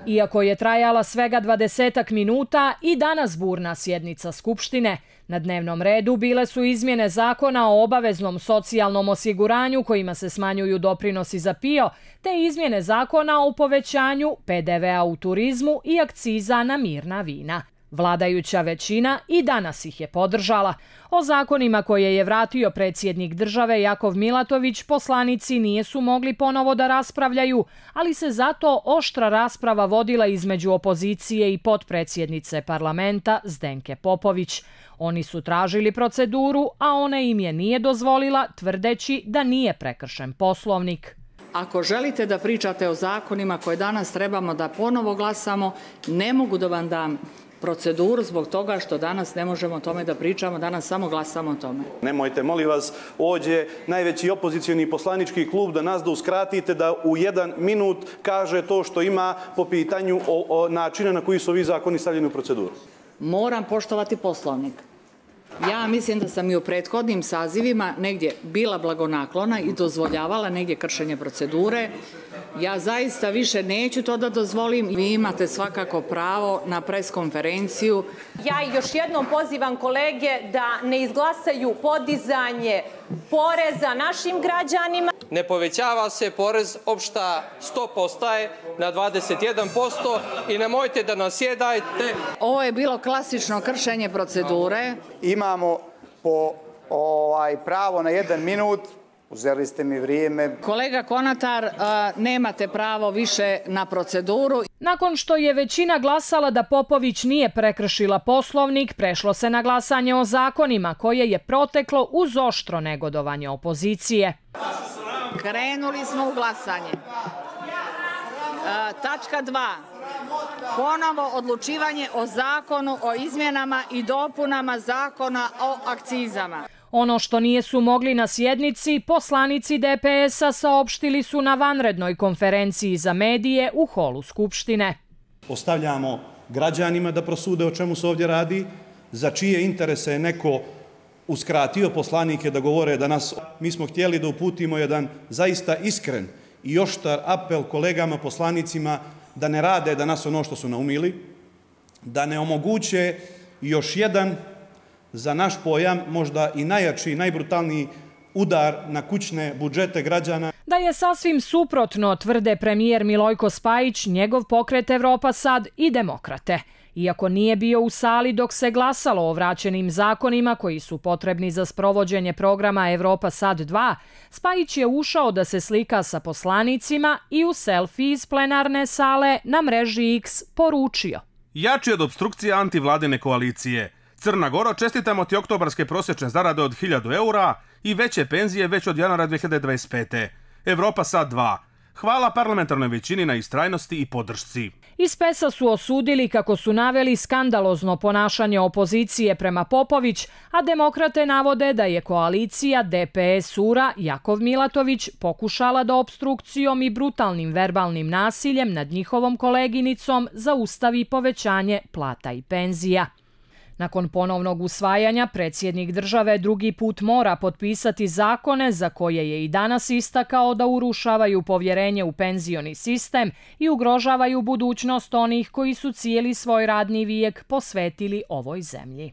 Iako je trajala svega 20 minuta, i danas burna sjednica Skupštine. Na dnevnom redu bile su izmjene zakona o obaveznom socijalnom osiguranju kojima se smanjuju doprinosi za PIO, te izmjene zakona o povećanju PDV-a u turizmu i akciza na mirna vina. Vladajuća većina i danas ih je podržala. O zakonima koje je vratio predsjednik države Jakov Milatović poslanici nisu mogli ponovo da raspravljaju, ali se zato oštra rasprava vodila između opozicije i potpredsjednice parlamenta Zdenke Popović. Oni su tražili proceduru, a ona im je nije dozvolila, tvrdeći da nije prekršen Poslovnik. Ako želite da pričate o zakonima koje danas trebamo da ponovo glasamo, ne mogu da vam dam proceduru zbog toga što danas ne možemo o tome da pričamo, danas samo glasamo o tome. Nemojte, molim vas, ovdje najveći opozicioni poslanički klub da nas da uskratite da u 1 minut kaže to što ima po pitanju načina na koji su ovi zakoni stavljeni u proceduru. Moram poštovati Poslovnik. Ja mislim da sam i u prethodnim sazivima negdje bila blagonaklona i dozvoljavala negdje kršenje procedure. Ja zaista više neću to da dozvolim. Vi imate svakako pravo na preskonferenciju. Ja još jednom pozivam kolege da ne izglasaju podizanje poreza našim građanima. Ne povećava se porez, opšta stopa ostaje na 21% i nemojte da nasjedajte. Ovo je bilo klasično kršenje procedure. Imamo po pravo na 1 minut. Uzeli ste mi vrijeme. Kolega Konatar, nemate pravo više na proceduru. Nakon što je većina glasala da Popović nije prekršila Poslovnik, prešlo se na glasanje o zakonima koje je proteklo uz oštro negodovanje opozicije. Krenuli smo u glasanje. Tačka 2. Ponovo odlučivanje o zakonu o izmjenama i dopunama zakona o akcizama. Ono što nisu mogli na sjednici, poslanici DPS-a saopštili su na vanrednoj konferenciji za medije u holu Skupštine. Ostavljamo građanima da prosude o čemu se ovdje radi, za čije interese je neko uskratio poslanike da govore danas. Mi smo htjeli da uputimo jedan zaista iskren i oštar apel kolegama poslanicima da ne rade danas ono što su naumili, da ne omoguće još jedan, za naš pojam, možda i najjači, najbrutalniji udar na kućne budžete građana. Da je sasvim suprotno, tvrde premijer Milojko Spajić, njegov pokret Evropa Sad i Demokrate. Iako nije bio u sali dok se glasalo o vraćenim zakonima koji su potrebni za sprovođenje programa Evropa Sad 2, Spajić je ušao da se slika sa poslanicima i u selfie iz plenarne sale na mreži X poručio: jači od opstrukcije antivladine koalicije. Crna Gora, čestitamo ti oktobarske prosječne zarade od 1000 eura i veće penzije već od januara 2025. Evropa Sad 2. Hvala parlamentarnoj većini na istrajnosti i podršci. Iz PES-a su osudili kako su naveli skandalozno ponašanje opozicije prema Popović, a demokrate navode da je koalicija DPS-URA Jakov Milatović pokušala da opstrukcijom i brutalnim verbalnim nasiljem nad njihovom koleginicom zaustavi povećanje plata i penzija. Nakon ponovnog usvajanja, predsjednik države drugi put mora potpisati zakone za koje je i danas istakao da urušavaju povjerenje u penzioni sistem i ugrožavaju budućnost onih koji su cijeli svoj radni vijek posvetili ovoj zemlji.